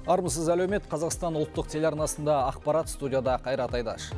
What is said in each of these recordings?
Армысыз әлеумет, Қазақстан ұлттық телеарнасында ақпарат, студияда Қайрат Айдаш.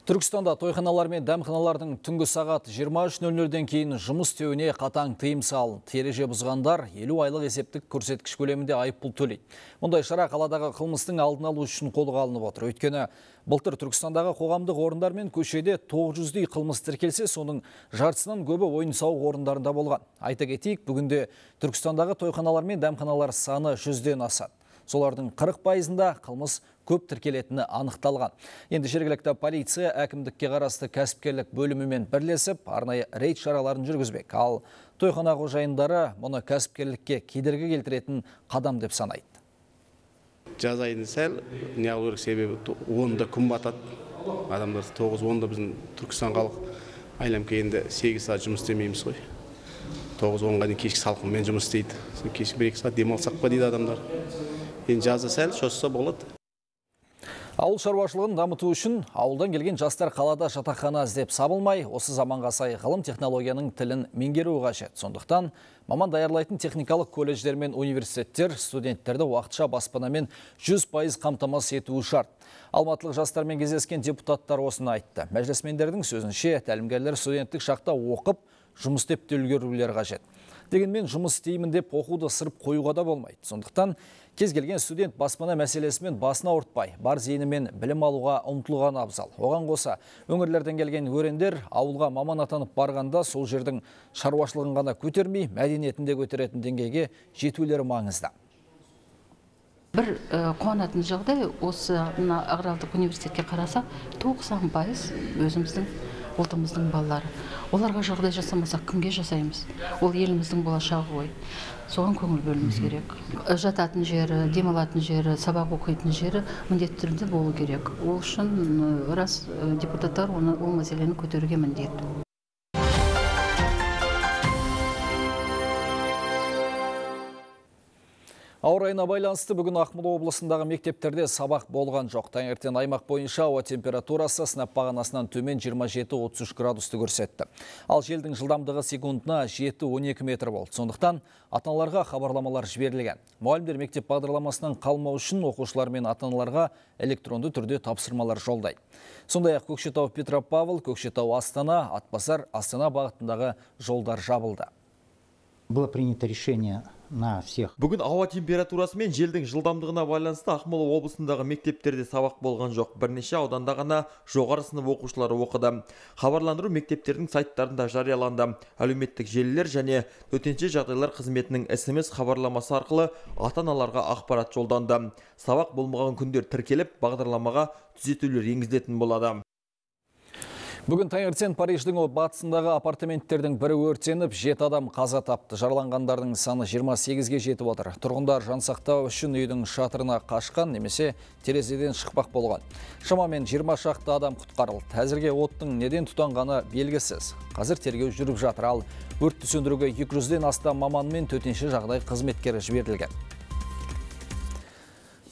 Түркістанда тойханалар мен дәмханалардың түнгі сағат 23:00-ден кейін жұмыс істеуіне қатаң тыйым салынды. Ереже бұзғандар 50 айлық есептік көрсеткіш көлемінде айыппұл төлейді. Мұндай шара қаладағы қылмыстың алдын алу үшін қолға алынып отыр. Өйткені былтыр Түркістандағы қоғамдық орындар мен көшеде 900-дей қылмыс тіркелсе, соның жартысынан көбі ойын-сауық орындарында болған. Айта кетейік, бүгінде Түркістандағы тойханалар мен дәмханалар саны 100-ден асады. Солардың 40%-ында қылмыс көп тіркелетіні анықталған. Енді жергілікті полиция әкімдікке қарасты кәсіпкерлік бөлімімен бірлесіп, арнайы рейд шараларын жүргізбек. Ал тойхана қожайындары мұны кәсіпкерлікке кедергі келтіретін қадам деп санайды. Жаз айында сәл не алу керек, себебі 10-да күн батады. Адамдар 9-10-да біздің Түркістан халық айламке енді 8 сағат жұмыс істемейміз ғой. 9-10-ға дейін кешкі салқынмен жұмыс істейді. Кешкі 1-2 сағат демалсақ па дейді адамдар. Енді жазда сәл шосса болады. Ауыл шаруашылығын дамыту үшін ауылдан келген жастар қалада жатақхана іздеп сабылмай, осы заманға сай ғылым технологияның тілін меңгеруі қажет. Сондықтан маман даярлайтын техникалық колледждер мен университеттер студенттерді уақытша баспанамен 100% қамтамасыз етуі шарт. Алматылық жастармен кездескен депутаттар осыны айтты. Мәжілісмендердің сөзінше, тәлімгерлер студенттік шақта оқып, жұмыс істеп те үлгерулері қажет. Дегенмен жұмыс істеймін деп оқуды сырып қоюға да болмайды. Сондықтан кез келген студент баспана мәселесімен басына ауыртпай, бар зейінімен білім алуға ұмтылған абзал. Оған қоса, өңірлерден келген өрендер ауылға маман атанып барғанда сол жердің шаруашылығын ғана көтермей, мәдениетінде көтеретін деңгейге жетулері маңызды. Бір қуанатын жағдай, осы аграрлық университетке қараса, 90% өзіміздің ұлтымыздың балалары. Оларға жағдай жасамасақ, кімге жасаймыз? Ол еліміздің болашағы ғой. Соған көңіл бөліміз керек. Жататын жері, демалатын жері, сабақ оқитын жері міндетті түрде болу керек. Ол үшін рас депутаттар ол мәселені көтеруге міндетті. Ауа райына байланысты бүгін Ақмола облысындағы мектептерде сабақ болған жоқ. Таңертең аймақ бойынша ауа температурасы сынап бағанасынан төмен 27-33 градусты көрсетті. Ал желдің жылдамдығы секундына 7-12 метр болды. Сондықтан ата-аналарға хабарламалар жіберілген. Мұғалімдер мектеп бағдарламасынан қалмау үшін оқушылар мен ата-аналарға электронды түрде тапсырмалар жолдайды. Сондай-ақ Көкшетау Петропавл, Көкшетау Астана, Атбасар, Астана бағытындағы жолдар жабылды. Было принято решение на всех. Бүгін ауа температурасы мен желдің жылдамдығына байланысты Ақмола облысындағы мектептерде сабақ болған жоқ. Бірнеше ауданда ғана жоғары сынып оқушылары оқыды. Хабарландыру мектептердің сайттарында жарияланды. Әлеуметтік желілер және төтенше жағдайлар қызметінің SMS хабарламасы арқылы ата-аналарға ақпарат жолданды. Сабақ болмаған күндер тіркеліп, бағдарламаға түзетулер енгізілетін болады. Бүгін таңертең Париждің батысындағы апартаменттердің бірі өртеніп, 7 адам қаза тапты. Жараланғандардың саны 28-ге жетіп отыр. Тұрғындар жансақтау үшін үйдің шатырына қашқан, немесе терезеден шықпақ болған. Шамамен 20 шақты адам құтқарылды. Әзірге оттың неден тұтанғаны белгісіз. Қазір тергеу жүріп жатыр. Ал өртті сөндіруге 200-ден астам маман мен төтенше жағдай қызметкері жіберілген.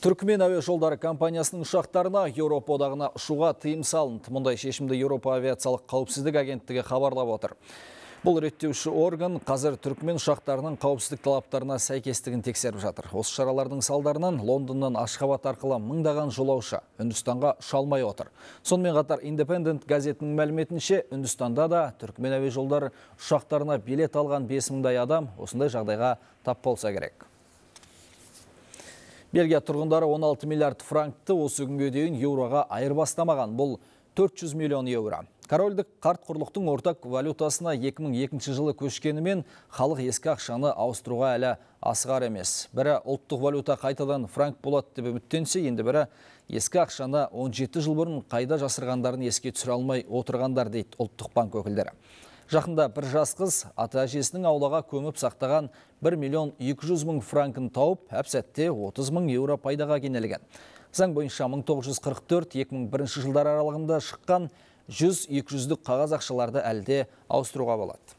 Түркмен әуе жолдары компаниясының ұшақтарына Еуропа одағына ұшуға тыйым салынды. Мұндай шешімді Еуропа авиациялық қауіпсіздік агенттігі хабарлап отыр. Бұл реттеуші орган қазір Түркмен ұшақтарының қауіпсіздік талаптарына сәйкестігін тексеріп жатыр. Осы шаралардың салдарынан Лондоннан Ашхабад арқылы мыңдаған жолаушы Үндістанға ұша алмай отыр. Сонымен қатар Independent газетінің мәліметінше, Үндістанда да Түркмен әуе жолдары ұшақтарына билет алған 5000-дай адам осындай жағдайға тап болса керек. Бельгия тұрғындары 16 миллиард франкты осы күнге дейін еуроға айырбастамаған. Бұл 400 миллион еуро. Корольдік қарт құрлықтың ортақ валютасына 2002 жылы көшкенімен халық ескі ақшаны ауыстыруға әлі асығар емес. Бірі ұлттық валюта қайтадан франк болады деп үміттенсе, енді бірі ескі ақшаны 17 жыл бұрын қайда жасырғандарын еске түсіре алмай отырғандар дейді ұлттық банк өкілдері. Жақында бір жас қыз ата-әжесінің аулаға көміп сақтаған 1.200.000 франкын тауып, әп-сәтте 30.000 еуро пайдаға кенелген. Заң бойынша 1944-2001 жылдар аралығында шыққан 100-200-дік қағаз ақшаларды әлде ауыстыруға болады.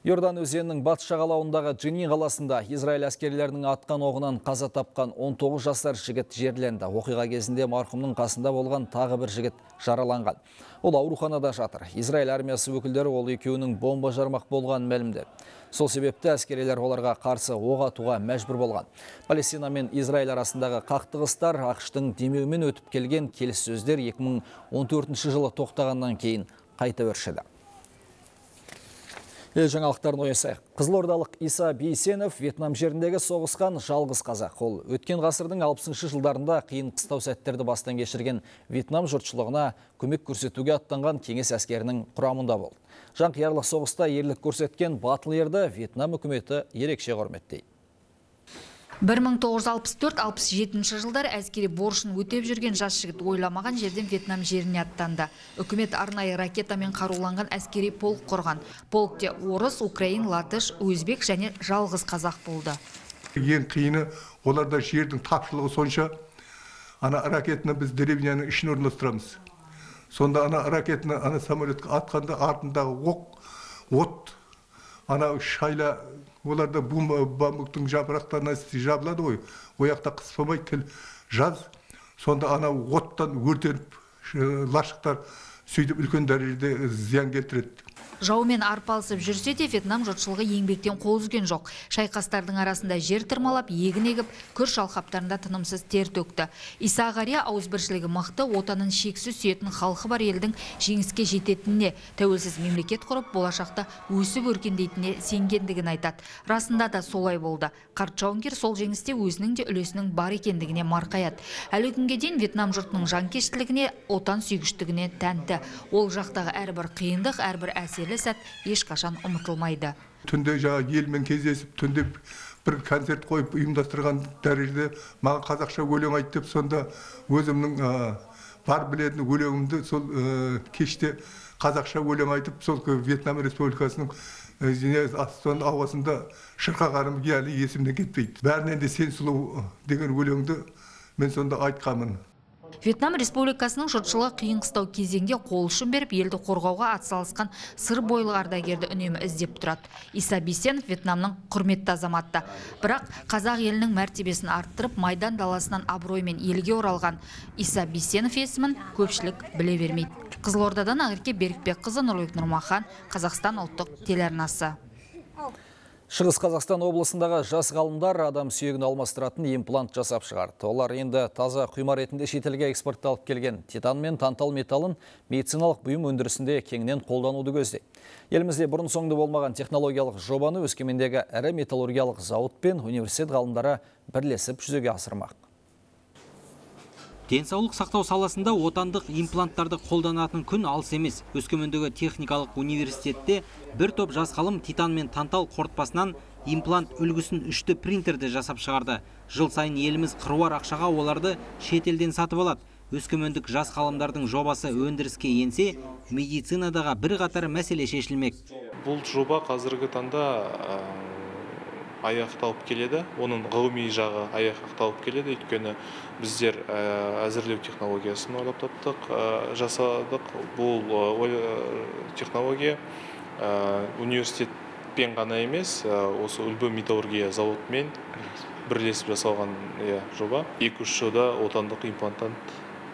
Иордан өзенінің батыс жағалауындағы Дженин қаласында Израиль әскерлерінің атқан оғынан қаза тапқан 19 жасар жігіт жерленді. Оқиға кезінде марқұмның қасында болған тағы бір жігіт жараланған. Ол ауруханада жатыр. Израиль армиясы өкілдері ол екеуінің бомба жармақ болғанын мәлімдеді. Сол себепті әскерилер оларға қарсы оқ атуға мәжбүр болған. Палестина мен Израиль арасындағы қақтығыстар ақш-тың демеуімен өтіп келген келіссөздер 2014 жылы тоқтағаннан кейін қайта өршіді. Жаңалықтарын ойысайық. Қызылордалық Иса Бейсенов Вьетнам жеріндегі соғысқан жалғыз қазақ. Ол өткен ғасырдың 60 жылдарында қиын қыстау сәттерді бастан кешірген Вьетнам жұртшылығына көмек көрсетуге аттанған кеңес әскерінің құрамында болды. Жанқиярлық соғыста ерлік көрсеткен батыл ерді Вьетнам үкіметі ерекше құрметтейді. 1964-67 жылдар әскери борышын өтеп жүрген жас жігіт ойламаған жерден Вьетнам жеріне аттанды. Үкімет арнайы ракетамен қаруланған әскери полк құрған. Полкте орыс, украин, латыш, өзбек және жалғыз қазақ болды. Ең қиыны оларда жердің тапшылығы сонша, ана ракетаны біз деревняның ішін орналастырамыз. Сонда ана ракетаны ана самолетке атқанда артындағы от, ана шайла, оларда бамбуктың жапырақтарына жабылады ғой, ояқта қыспамай тіл жаз, сонда ана оттан өртеніп, лашықтар сөйтіп үлкен дәрежеде зиян келтіреді. Жаумен арпалысып жүрсе де Вьетнам жұртшылығы еңбектен қол үзген жоқ. Шайқастардың арасында жер тырмалап, егін егіп, күріш алқаптарында тынымсыз тер төкті. Иса Ғария ауызбіршілігі мықты, отанын шексіз сүйетін халқы бар елдің жеңіске жететініне, тәуелсіз мемлекет құрып, болашақта өсіп өркендейтініне сенгендігін айтады. Расында да солай болды. Қарт жауынгер сол жеңісте өзінің де үлесінің бар екендігіне марқаяды. Әлі күнге дейін Вьетнам жұртының жанкештілігіне, отан сүйгіштігіне тәнті. Ол жақтағы әрбір қиындық, әрбір әсерлі сәт ешқашан ұмытылмайды. Түнде елмен кездесіп, түнде бір концерт қойып ұйымдастырған дәрежеде маған қазақша өлең айтып, сонда өзімнің бар білетін өлеңімді сол кеште қазақша өлең айтып, сол Вьетнам Республикасының ауасында шырқағаным әлі есімнен кетпейді. Бәрінен де сен сұлу деген өлеңді мен сонда айтқанмын. Вьетнам Республикасының жұртшылығы қиын қыстау кезеңде қол ұшын беріп, елді қорғауға атсалысқан сыр бойлы ардагерді үнемі іздеп тұрады. Иса Бейсенов Вьетнамның құрметті азаматы. Бірақ қазақ елінің мәртебесін арттырып, майдан даласынан абыроймен елге оралған Иса Бейсенов есімін көпшілік біле бермейді. Қызылордадан Ақерке Берікбекқызы, Нұрлыбек Нұрмахан, Қазақстан ұлттық телеарнасы. Шығыс Қазақстан облысындағы жас ғалымдар адам сүйегін алмастыратын имплант жасап шығарды. Олар енді таза құйма ретінде шетелге экспортталып келген титан мен тантал металлын медициналық бұйым өндірісінде кеңінен қолдануды көздейді. Елімізде бұрын соңды болмаған технологиялық жобаны Өскемендегі ірі металлургиялық зауыт пен университет ғалымдары бірлесіп жүзеге асырмақ. Денсаулық сақтау саласында отандық импланттарды қолданатын күн алыс емес. Өскемендегі техникалық университетте бір топ жас ғалым титан мен тантал қорытпасынан имплант үлгісін 3D принтерді жасап шығарды. Жыл сайын еліміз қыруар ақшаға оларды шетелден сатып алады. Өскемендік жас ғалымдардың жобасы өндіріске енсе, медицинадағы бір қатар мәселе шешілмек. Бұл жоба қазіргі таңда аяқталып келеді. Оның ғылыми жағы аяқталып келеді. Өйткені біздер әзірлеу технологиясын ойлап таптық, жасадық. Бұл технология университетпен ғана емес, осы үлбі металлургия зауытымен бірлесіп жасалған жоба. 2-3 жылда отандық импланттан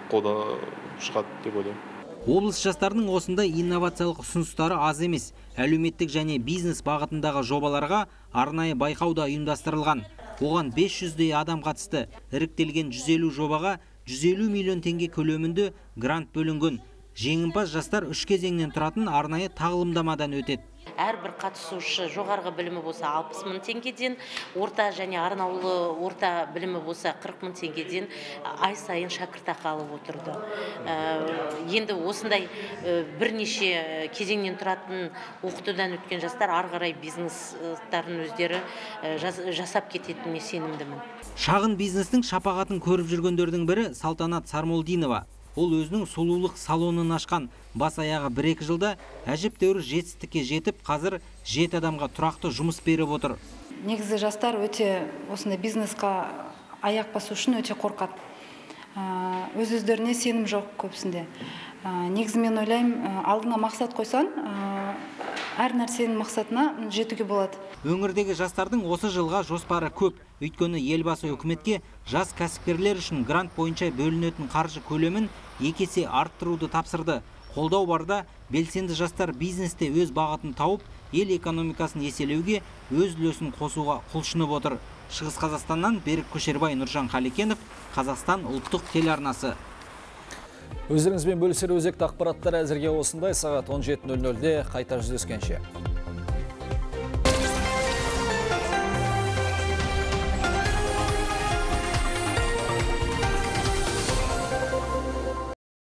қолданып шығады деп ойлаймын. Облыс жастарының осындай инновациялық ұсыныстары аз емес. Әлеуметтік және бизнес бағытындағы жобаларға арнайы байқауда ұйымдастырылған. Оған 500-дей адам қатысты. Іріктелген 150 жобаға 150 миллион теңге көлемінде грант бөлінген. Жеңімпаз жастар 3 кезеңнен тұратын арнайы тағылымдамадан өтеді. Әрбір қатысушы жоғарғы білімі болса 60 мың теңгеден, орта және арнаулы орта білімі болса 40 мың теңгеден ай сайын шәкіртақы алып отырды. Енді осындай бірнеше кезеңнен тұратын оқытудан өткен жастар ары қарай бизнестарын өздері жасап кететініне сенімдімін. Шағын бизнестің шапағатын көріп жүргендердің бірі Салтанат Сармолдинова. Ол өзінің сұлулық салонын ашқан. Бас аяғы 1-2 жылда әжептәуір жетістікке жетіп, қазір 7 адамға тұрақты жұмыс беріп отыр. Негізі жастар өте осындай бизнесқа аяқ басу үшін өте қорқады. Өз-өздеріне сенім жоқ көбісінде. Негізі мен ойлаймын, алдыңа мақсат қойсан, әр нәрсенің мақсатына жетуге болады. Өңірдегі жастардың осы жылға жоспары көп. Өйткені елбасы үкіметке жас кәсіпкерлер үшін грант бойынша бөлінетін қаржы көлемін 2 есе арттыруды тапсырды. Қолдау барда белсенді жастар бизнесте өз бағытын тауып, ел экономикасын еселеуге өз үлесін қосуға құлшынып отыр. Шығыс Қазақстаннан Берік Көшербай, Нұржан Қалекенов, Қазақстан ұлттық телеарнасы. Өздеріңізбен бөлісер өзекті ақпараттар әзірге осындай. Сағат 17:00-де қайта жүздескенше.